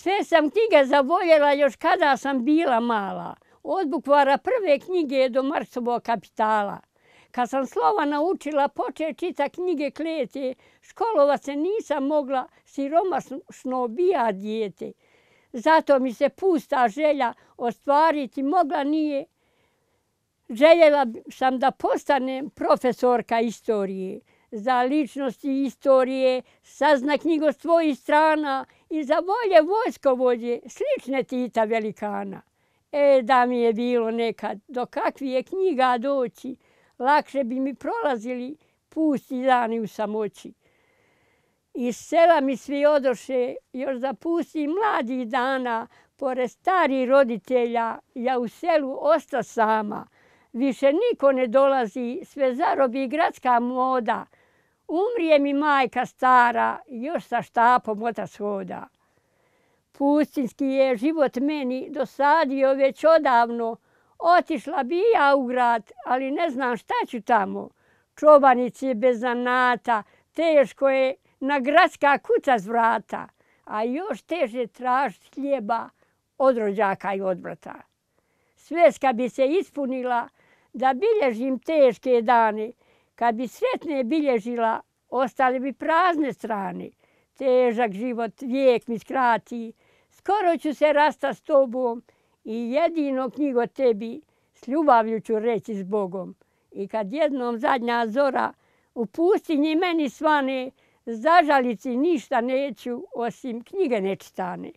Sve sam knjige zavoljela još kada sam bila mala. Od bukvara prve knjige do Marksovog kapitala. Kad sam slova naučila počet čita knjige klete, školovat se nisam mogla, siromašno bija dijete. Zato mi se pusta želja ostvariti mogla nije. Željela sam da postanem profesorka istorije. Za ličnosti istorije sazna knjigo svojih strana i za volje vojskovođe slične Tita velikana. Da mi je bilo nekad do kakvih je knjiga doći, lakše bi mi prolazili pusti dani u samoći. Iz sela mi svi odoše, još za pustih mladih dana, pored starih roditelja, ja u selu osta sama. Više niko ne dolazi, sve zarobi gradska moda. Umrije mi majka stara, još sa štapom otac hoda. Pustinski je život meni dosadio već odavno. Otišla bi ja u grad, ali ne znam šta ću tamo. Čobanici je bez zanata, teško je na gradska kuća s vrata, a još teže tražiti hljeba od rođaka i od brata. Sveska bi se ispunila da bilježim teške dane. Kad bi sretne bilježila, ostale bi prazne strane. Težak život vijek mi skrati, skoro ću se rasta s tobom i jedino knjigo tebi s ljubavlju ću reći s Bogom. I kad jednom zadnja zora u pustinji meni svane, zažalici ništa neću osim knjige nečitane.